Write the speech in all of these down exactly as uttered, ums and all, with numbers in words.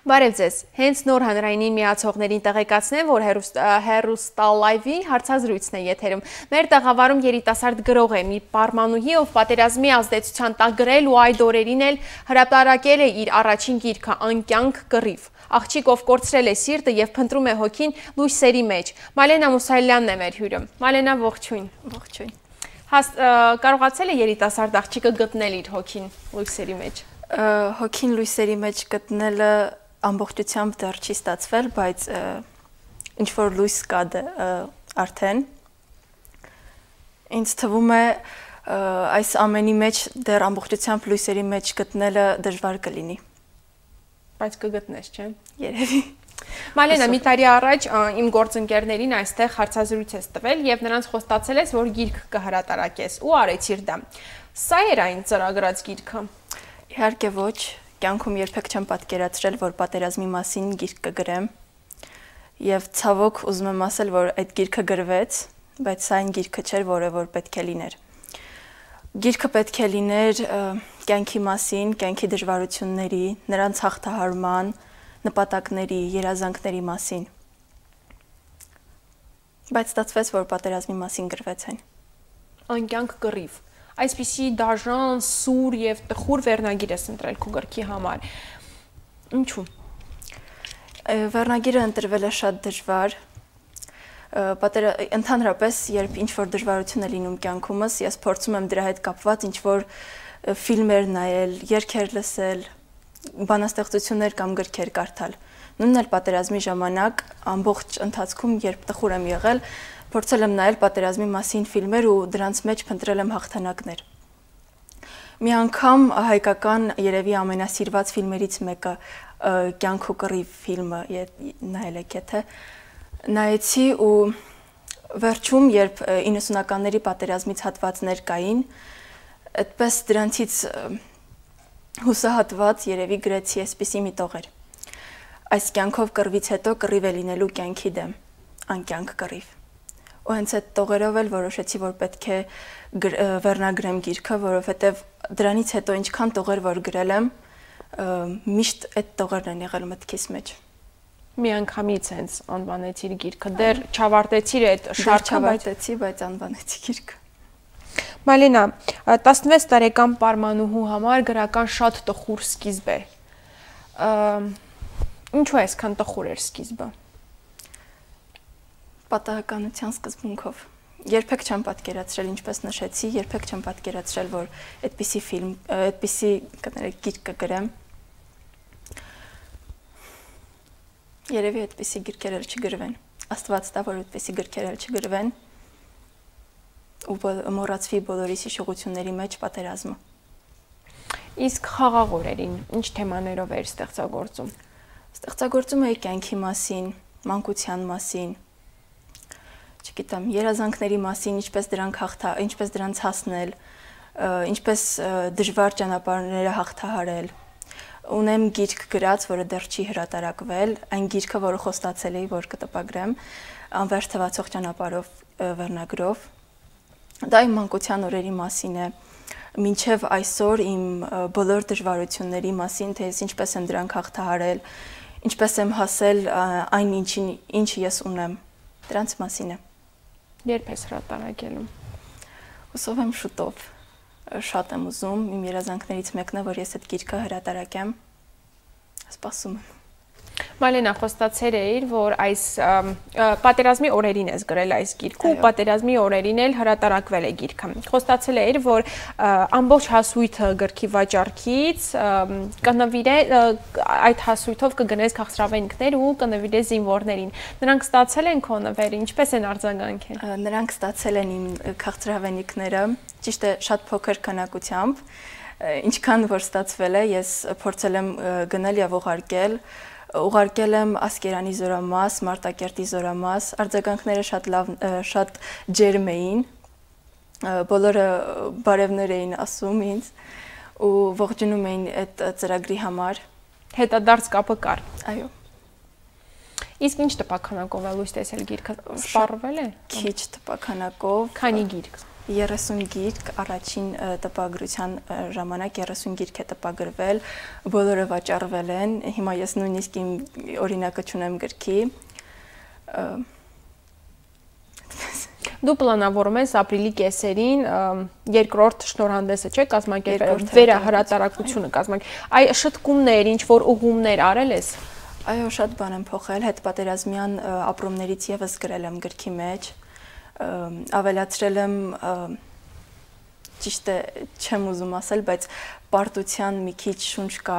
Բարև ձեզ, հենց նոր հանրայինին միացողներին տեղեկացնեմ, որ հեռուստալայվի հարցազրույցն է եթերում։ Մեր տաղավարում երիտասարդ գրող է մի պարմանուհի, ով պատերազմի ազդեցության տակ գրել ու այդ օրերին էլ հրապարակել է իր առաջին գիրքը «Անկյանք կռիվ»։ Աղջիկ, ով կորցրել է սիրտը և փնտրում է հոգին լույսերի մեջ։ Մալենա Մուսայելյանն է մեր հյուրը։ Մալենա, ողջույն։ Ողջույն։ Կարողացել է երիտասարդ աղջիկը գտնել իր հոգին լույսերի մեջ։ Հոգին լույսերի մեջ գտնելը ամբողջությամբ դեռ չի ստացվել, բայց ինչ որ լույս կա արդեն։ Ինձ թվում է այս ամենի մեջ դեռ ամբողջությամբ լույսերի մեջ գտնելը դժվար կլինի։ Բայց կգտնես, չէ՞։ Երևի։ Մալենա, մի տարի առաջ իմ գործընկերներին այստեղ հարցազրույց ես տվել և նրանց խոստացել ես, որ գիրք կհրատարակես ու արեցիր դա։ Սա էր այն ծրագրած գիրքը։ Իհարկե ոչ, կյանքում երբեք չեմ պատկերացրել, որ պատերազմի մասին գիրք կգրեմ, և ցավոք ուզում եմ ասել, որ այդ գիրքը գրվեց, բայց սա այն գիրքը չէր, որը որ պետք է լիներ։ Գիրքը պետք է լիներ կյանքի մասին, կյանքի դժվարությունների, նրանց հաղթահարման, նպատակների, երազանքների մասին։ Բայց ստացվեց, որ պատերազմի մասին գրվեց այն։ Անկյանք կռիվ։ Այսպիսի դաժան, սուր և տխուր վերնագիր ես ընտրել քո գրքի համար։ Ինչու՞։ Վերնագիրը ընտրվել է շատ դժվար։ Ընդհանրապես, երբ ինչ-որ դժվարություն է լինում կյանքումս, ես փորձում եմ դրա հետ կապված ինչ-որ ֆիլմեր նայել, երգեր լսել, բանաստեղծություններ կամ գրքեր կարդալ։ Նույնն էլ պատերազմի ժամանակ, ամբողջ ընթացքում, երբ տխուր եմ եղել, փորձել եմ նայել պատերազմի մասին ֆիլմեր ու դրանց մեջ փնտրել եմ հաղթանակներ։ Մի անգամ հայկական երևի ամենասիրված ֆիլմերից մեկը «Կյանք ու կռիվ» ֆիլմը նայել եք եթե, նայեցի ու վերջում, երբ իննսունականների պատերազմից հատվածներ կային, այդպես դրանցից հուսահատված երևի գրեցի այսպիսի մի տողեր։ Այս կյանքով կռվից հետո կռիվ է լինելու կյանքի դեմ, անկյանք կռիվ։ Ու հենց այդ տողերով էլ որոշեցի, որ պետք է վերնագրեմ գիրքը, որովհետև դրանից հետո ինչքան տողեր որ գրել եմ, միշտ այդ տողերն են եղել մտքիս մեջ։ Մի անգամից հենց անվանեցիր գիրքը, դեռ չավարտեցիր այդ շարքը, չավարտեցի, բայց անվանեցի գիրքը։ Մալենա, տասնվեց տարեկան պարմանուհու համար գրական շատ տխուր սկիզբ է։ Ինչու այսքան տխուր էր սկիզբը։ Պատահականության սկզբունքով։ Երբեք չեմ պատկերացրել, ինչպես նշեցի, երբեք չեմ պատկերացրել, որ այդպիսի ֆիլմ, այդպիսի գիրք կգրեմ։ Երևի այդպիսի գրքեր էլ չգրվեն։ Աստված տա, որ այդպիսի գրքեր էլ չգրվեն ու մոռացվի բոլորիս հիշողությունների մեջ պատերազմը։ Իսկ խաղաղ օրերին ինչ թեմաներով էր ստեղծագործում։ Ստեղծագործում էի կյանքի մասին, մանկության մասին, չգիտեմ, երազանքների մասին, ինչպես դրանք հաղթա, ինչպես դրանց հասնել, ինչպես դժվար ճանապարհները հաղթահարել։ Ունեմ գիրք գրած, որը դեռ չի հրատարակվել, այն գիրքը, որը խոստացել էի, որ կտպագրեմ, անվերջ թվացող ճանապարհով վերնագրով։ Դա իմ մանկության օրերի մասին է, մինչև այսօր իմ բոլոր դժվարությունների մասին, թե ես ինչպես եմ դրանք հաղթահարել, ինչպես եմ հասել այն ինչին, ինչ ես ունեմ, դրանց մասին է։ Երբ ես հրատարակելու։ Հուսով եմ շուտով, շատ եմ ուզում, իմ երազանքներից մեկն է, որ ես այդ գիրքը հրատարակեմ, սպասում եմ։ Մալենա, խոստացել էիր, որ այս պատերազմի օրերին ես գրել այս գիրքը ու պատերազմի օրերին էլ հրատարակվել է գիրքը։ Խոստացել էիր, որ ամբողջ հասույթը գրքի վաճառքից այդ հասույթով կգնես քաղցրավենիքներ ու կնվիրես զինվորներին։ Նրանք ստացել են քո նվերը, ինչպես են արձագանքել։ Նրանք ստացել են իմ քաղցրավենիքները, ճիշտ է, շատ փոքր քանակությամբ, ինչքան որ ստացվել է, ես փորձել եմ գնել եւ ուղարկել Ուղարկել եմ Ասկերանի զորամաս, Մարտակերտի զորամաս, արձագանքները շատ լավ, շատ ջերմ էին, բոլորը բարևներ էին ասում ինձ ու ողջունում էին այդ ծրագրի համար։ Հետադարձ կապը կար։ Այո։ Իսկ ինչ տպաքանակով է լույս տեսել գիրքը, սպառվել է։ Քիչ տպաքանակով։ Քանի գիրք։ երեսուն գիրք առաջին տպագրության ժամանակ երեսուն գիրք է տպագրվել, բոլորը վաճառվել են, հիմա ես նույնիսկ իմ օրինակը չունեմ գրքի։ Դու պլանավորում ես ապրիլի կեսերին երկրորդ շնորհանդեսը չէ կազմակերպել, վերահրատարակությունը կազմակերպել։ Այ շտկումներ, ինչ որ ուղումներ արել ես։ Այո, շատ բան եմ փոխել, հետպատերազմյան ապրումներից եւս գրել եմ գրքի մեջ, ավելացրել եմ, ճիշտ է, չեմ ուզում ասել, բայց պարտության մի քիչ շունչ կա,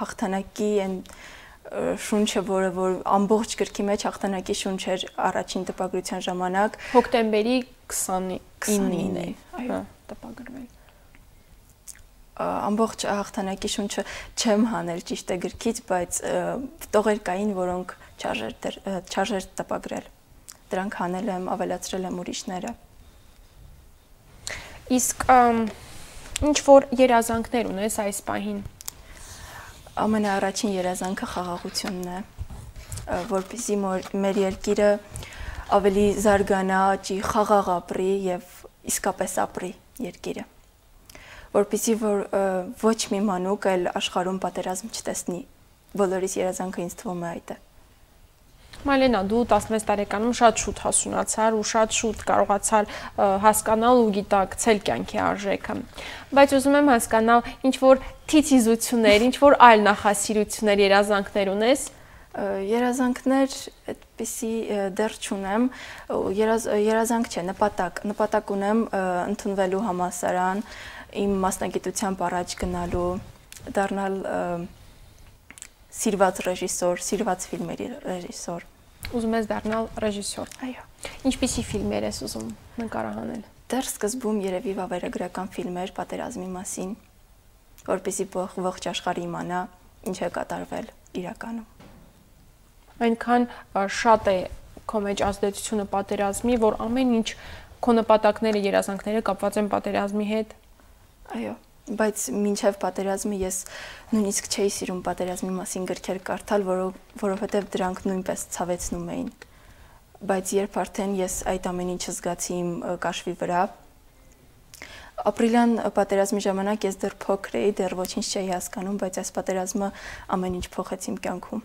հաղթանակի այն շունչը, որը որ ամբողջ գրքի մեջ հաղթանակի շունչ էր առաջին տպագրության ժամանակ, հոկտեմբերի քսանինին է, այո, տպագրվել։ Ամբողջ հաղթանակի շունչը չեմ հանել ճիշտ է գրքից, բայց տողեր կային, որոնք չարժեր տպագրել։ Դրանք հանել եմ, ավելացրել եմ ուրիշները։ Իսկ ինչ որ երազանքներ ունես այս պահին։ Ամենաառաջին երազանքը խաղաղությունն է, որպեսզի մեր երկիրը ավելի զարգանա, ճի խաղաղ ապրի եւ իսկապես ապրի երկիրը, որպեսզի որ ոչ մի մանուկ էլ աշխարհում պատերազմ չտեսնի, բոլորիս երազանքը ինձ թվում է այդ է։ Մալենա, դու տասնվեց տարեկանում շատ շուտ հասունացար ու շատ շուտ կարողացար հասկանալ ու գիտակցել կյանքի արժեքը։ Բայց ուզում եմ հասկանալ, ինչ որ թիթիզություններ, ինչ որ այլ նախասիրություններ, երազանքներ ունես։ Երազանքներ այդպիսի դեռ չունեմ, երազանք չէ, նպատակ, նպատակ ունեմ ընդունվելու համալսարան, իմ մասնագիտությամբ առաջ գնալու, դառնալ սիրված ռեժիսոր, սիրված ֆիլմերի ռեժիսոր։ Ուզում ես դառնալ ռեժիսոր։ Այո։ Ինչպիսի ֆիլմեր ես ուզում նկարահանել։ Դեռ սկզբում երևի վավերագրական ֆիլմեր պատերազմի մասին, որպեսզի ողջ աշխարհը իմանա ինչ է կատարվել իրականում։ Այնքան շատ է քո մեջ ազդեցությունը պատերազմի, որ ամեն ինչ քո նպատակները, երազանքները կապված են պատերազմի հետ։ Այո, բայց մինչև պատերազմը ես նույնիսկ չէի սիրում պատերազմի մասին գրքեր կարդալ, որովհետև դրանք նույնպես ցավեցնում էին։ Բայց երբ արդեն ես այդ ամեն ինչը զգացի իմ կաշվի վրա, ապրիլյան պատերազմի ժամանակ ես դեռ փոքր էի, դեռ ոչինչ չէի հասկանում, բայց այս պատերազմը ամեն ինչ փոխեց իմ կյանքում։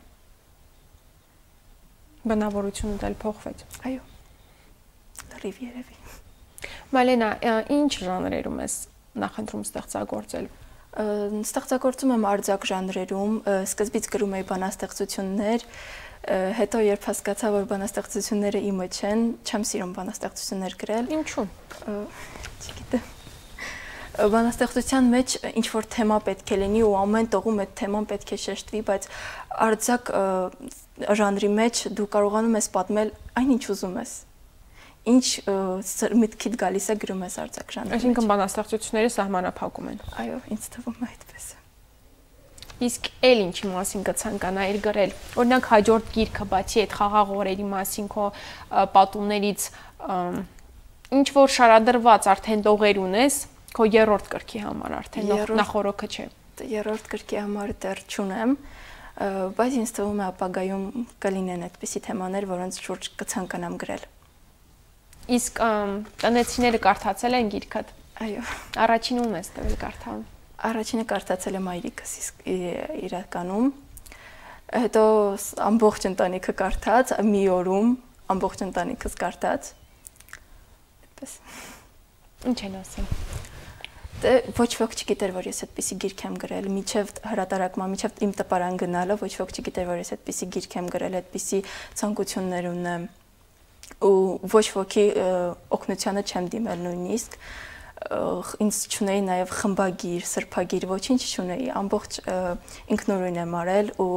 Բնավորությունը դել փոխվեց։ Այո։ Լրիվ երևի։ Մալենա, ինչ ժանրերում ես նախընտրում ստեղծագործել։ Ստեղծագործում եմ արձակ ժանրերում, սկզբից գրում էի բանաստեղծություններ, հետո երբ հասկացա, որ բանաստեղծությունները իմը չեն, չեմ սիրում բանաստեղծություններ գրել։ Ինչու՞։ Չգիտեմ։ Բանաստեղծության մեջ ինչ որ թեմա պետք է լինի ու ամեն տողում այդ թեման պետք է շեշտվի, բայց արձակ ժանրի մեջ դու կարողանում ես պատմել այն ինչ ուզում ես։ Ինչ միտքիդ գալիս է գրում ես արձակ ժանրի մեջ։ Այսինքն բանաստեղծությունները սահմանափակում են։ Այո, ինձ թվում է այդպես։ Իսկ էլ ինչի մասին կցանկանայիր գրել։ Օրինակ հաջորդ գիրքը, բացի այդ խաղաղ օրերի մասին քո պատումներից ինչ որ շարադրված արդեն տողեր ունես, քո երրորդ գրքի համար արդեն նախորոքը չէ։ Երրորդ գրքի համար դեռ չունեմ, բայց ինձ թվում է ապագայում կլինեն այդպիսի թեմաներ, որոնց շուրջ կցանկանամ գրել։ Իսկ տնեցիները կարդացել են գիրքդ։ Այո։ Առաջին ում ես տվել կարդալ։ Առաջինը կարդացել է մայրիկս իրականում։ Հետո ամբողջ ընտանիքը կարդաց, մի օրում ամբողջ ընտանիքս կարդաց։ Այդպես։ Ինչ են ասում։ Դե ոչ ոք չգիտեր, որ ես այդպիսի գիրք եմ գրել, միջև հրատարակման, միջև իմ տպարան գնալը, ոչ ոք չգիտեր, որ ես այդպիսի գիրք եմ գրել, այդպիսի ցանկություններ ունեմ ու ոչ ոքի օգնությանը չեմ դիմել նույնիսկ, ինձ չունեի նաև խմբագիր, սրբագիր, ոչինչ չունեի, ամբողջ ինքնուրույն եմ արել ու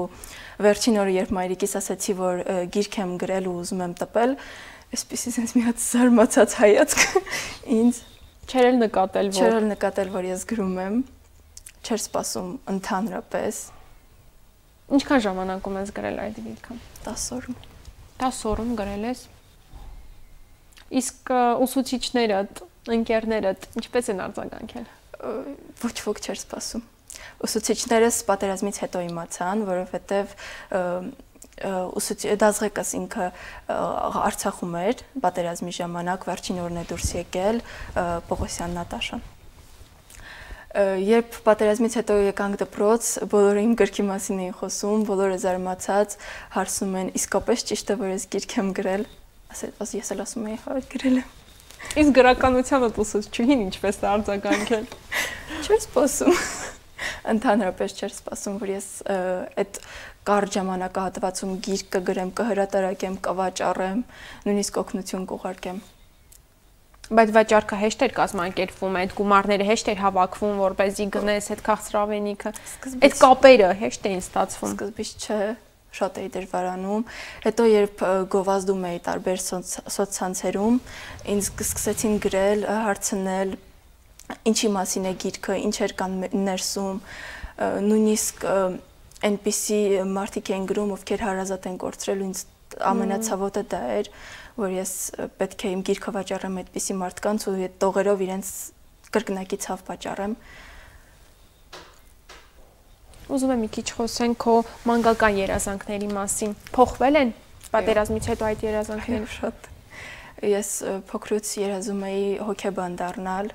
վերջին օրը երբ մայրիկիս ասացի, որ գիրք եմ գրել ու ուզում եմ տպել, այսպեսի sense մի հատ զարմացած հայացք ինձ Չէր էլ նկատել, որ Չէր էլ նկատել, որ ես գրում եմ, չէր սպասում ընդհանրապես։ Ինչքան ժամանակում ես գրել այդ գիրքը։ տասը օրում։ տասը օրում գրել ես։ Իսկ ուսուցիչներդ, ընկերներդ ինչպես են արձագանքել։ Ոչ ոք չէր սպասում։ Ուսուցիչներս պատերազմից հետո իմացան, որովհետև դազղեկս ինքը Արցախում էր պատերազմի ժամանակ, վերջին օրն է դուրս եկել Պողոսյան Նատաշան։ Երբ պատերազմից հետո եկանք դպրոց, բոլորը իմ գրքի մասին էին խոսում, բոլորը զարմացած հարցում են, իսկապես ճիշտ է, որ ես գիրք եմ գրել, ասես ես էլ ասում էի, հա, գրել եմ։ Իսկ գրականությանը ուսուցչուհին ինչպես է արձագանքել։ Չէր սպասում։ Ընդհանրապես չէր սպասում, որ ես այդ կարճ ժամանակահատվածում գիրք կգրեմ, կհրատարակեմ, կվաճառեմ, նույնիսկ օգնություն կուղարկեմ։ Բայց վաճառքը հեշտ էր կազմակերպվում, այդ գումարները հեշտ էր հավաքվում, որպեսզի գնես այդ քաղցրավենիքը։ Այդ կապերը հեշտ էին ստացվում։ Սկզբից չէ, շատ էի դժվարանում։ Հետո երբ գովազդում էի տարբեր սոցցանցերում, ինձ սկսեցին գրել, հարցնել, ինչի մասին է գիրքը, ինչեր կան ներսում, նույնիսկ այնպիսի մարդիկ էին գրում, ովքեր հարազատ են կորցրել, ինձ ամենացավոտը դա էր, որ ես պետք է իմ գիրքը վաճառեմ այդպիսի մարդկանց ու այդ տողերով իրենց կրկնակի ցավ վաճառեմ։ Ուզում եմ մի քիչ խոսենք քո մանկական երազանքների մասին։ Փոխվել են պատերազմից հետո այդ երազանքները։ Շատ։ Ես փոքրուց երազում էի հոկեբան դառնալ։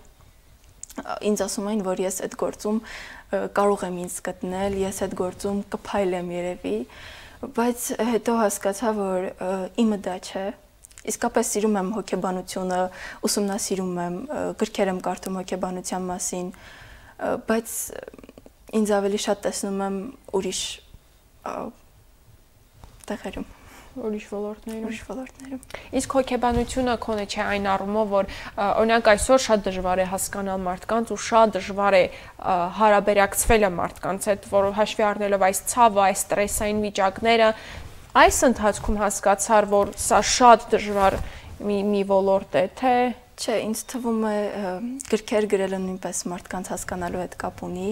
Ինձ ասում էին, որ ես այդ գործում կարող եմ ինձ գտնել, ես այդ գործում կփայլեմ երևի, բայց հետո հասկացա, որ իմը դա չէ։ Իսկապես սիրում եմ հոկեբանությունը, ուսումնասիրում եմ, գրքեր եմ կարդում հոկեբանության մասին, բայց ինձ ավելի շատ տեսնում եմ ուրիշ տեղերում, ուրիշ ոլորտներում, ուրիշ ոլորտներում։ Իսկ հոկեբանությունը քոնը չէ այն առումով, որ օրինակ այսօր շատ դժվար է հասկանալ մարդկանց ու շատ դժվար է հարաբերակցվելը մարդկանց հետ, որ հաշվի առնելով այս ցավը, այս ստրեսային վիճակները, այս ընթացքում հասկացար, որ սա շատ դժվար մի մի ոլորտ է, թե չէ, ինձ թվում է գրքեր գրելը նույնպես մարդկանց հասկանալու հետ կապ ունի,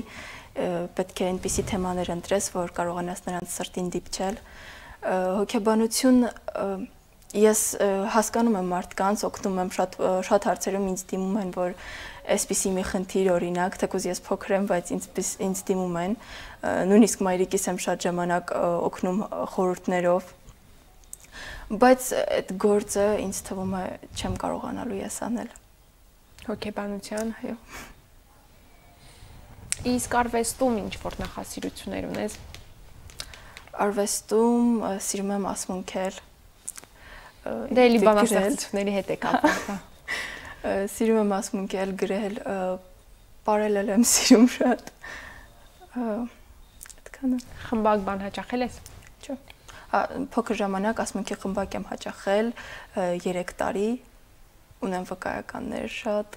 պետք է այնպիսի թեմաներ ընտրես, որ կարողանաս նրանց սրտին դիպչել։ Հոգեբանություն ես հասկանում եմ մարդկանց, օգնում եմ շատ շատ հարցերում ինձ դիմում են, որ այսպիսի մի խնդիր օրինակ, թեկուզ ես փոքր եմ, բայց ինձ ինձ դիմում են, նույնիսկ մայրիկիս եմ շատ ժամանակ օգնում խորհուրդներով, բայց այդ գործը ինձ թվում է չեմ կարողանալու ես անել։ Հոգեբանության, այո։ Իսկ արվեստում ինչ որ նախասիրություններ ունես։ Արվեստում սիրում եմ ասմունքել։ Դե էլի բանաստեղծությունների հետ է կապված։ Սիրում եմ ասմունքել, գրել, պարել եմ սիրում շատ։ Այդքանը։ Խմբակ բան հաճախել ես։ Չէ։ Փոքր ժամանակ ասմունքի խմբակ եմ հաճախել երեք տարի, ունեմ վկայականներ շատ,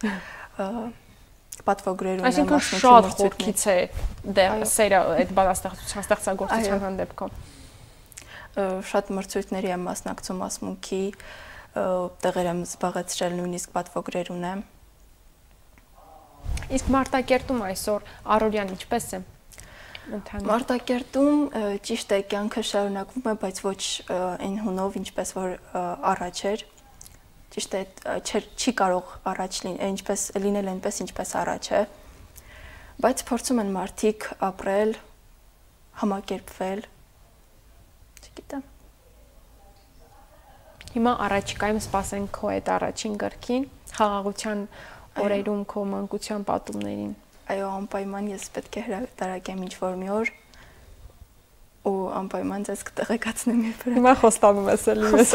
պատվոգրեր ունեմ, այսինքն շատ խորքից է դեռ սերը այդ բանաստեղծության ստեղծագործության հանդեպքում։ Շատ մրցույթների եմ մասնակցում ասմունքի, տեղեր եմ զբաղեցրել, նույնիսկ պատվոգրեր ունեմ։ Իսկ Մարտակերտում այսօր առօրյան ինչպես է։ Մարտակերտում ճիշտ է, կյանքը շարունակվում է, բայց ոչ այն հունով, ինչպես որ առաջ էր։ Ճիշտ է, չի կարող առաջ ինչպես լինել այնպես, ինչպես առաջ է։ Բայց փորձում են մարդիկ ապրել, համակերպվել։ Չգիտեմ։ Հիմա առաջիկայում սպասենք քո այդ առաջին գրքին, խաղաղության օրերում քո մանկության պատումներին։ Այո, անպայման ես պետք է հրատարակեմ ինչ-որ մի օր ու անպայման ձեզ կտեղեկացնեմ երբ։ Հիմա խոստանում ես էլի մեզ։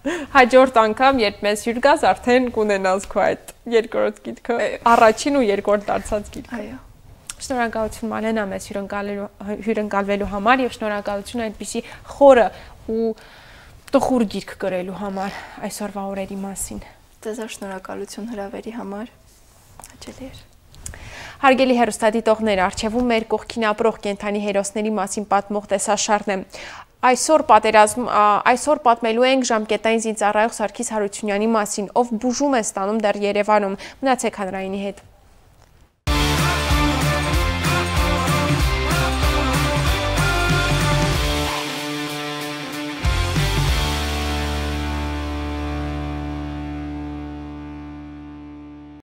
Հաջորդ անգամ, երբ մեզ հյուր գաս, արդեն կունենաս քո այդ երկրորդ գիրքը, առաջին ու երկրորդ դարձած գիրքը։ Այո։ Շնորհակալություն Մալենա մեզ հյուրընկալվելու համար եւ շնորհակալություն այնպիսի խորը ու տխուր գիրք գրելու համար այսօրվա օրերի մասին։ Ձեզ շնորհակալություն հրավերի համար։ Հաճելի էր։ Հարգելի հեռուստադիտողներ, առջևում մեր կողքին ապրող կենդանի հերոսների մասին պատմող տեսաշարն է։ Այսօր պատերազմ, այսօր պատմելու ենք ժամկետային զինծառայող Սարգիս Հարությունյանի մասին, ով բուժում է ստանում դեռ Երևանում։ Մնացեք հանրայինի հետ։